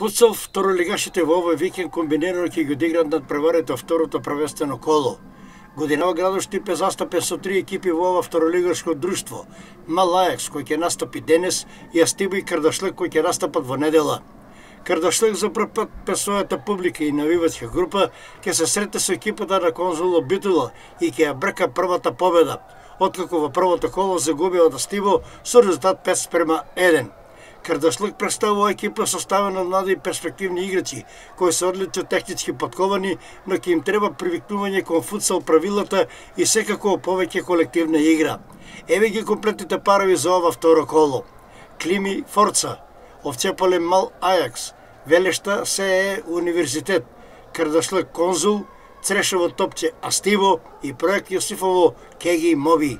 Футсал второлигашите во овој викенд комбинирано ќе ги одиграат надпреварите второто првенствено коло. Годинава градот Штип е застапен со 3 екипи во ова второлигашко друштво. Мал Ајакс кој ќе настапи денес и Астиво и Кардашлик кој ќе настапат во недела. Кардашлик за прв пат без својата публика и навивачка група ќе се сретне со екипата на Конзул Битула и ќе ја брка првата победа, откако во првото коло загубија од Астиво со резултат 5:1. Кардашлик представува екипа составена од млади и перспективни играчи, кои се одлично технички подковани, но ќе им треба привикнување кон футсал правилата и секако повеќе колективна игра. Еве ги комплетните парови за ова второ коло. Клими Форца, Овчеполе Мал Ајакс, Велешта СЕ Универзитет, Кардашлик Конзул, Црешево Топче Астиво и Проект Јосифово Кеги Моби.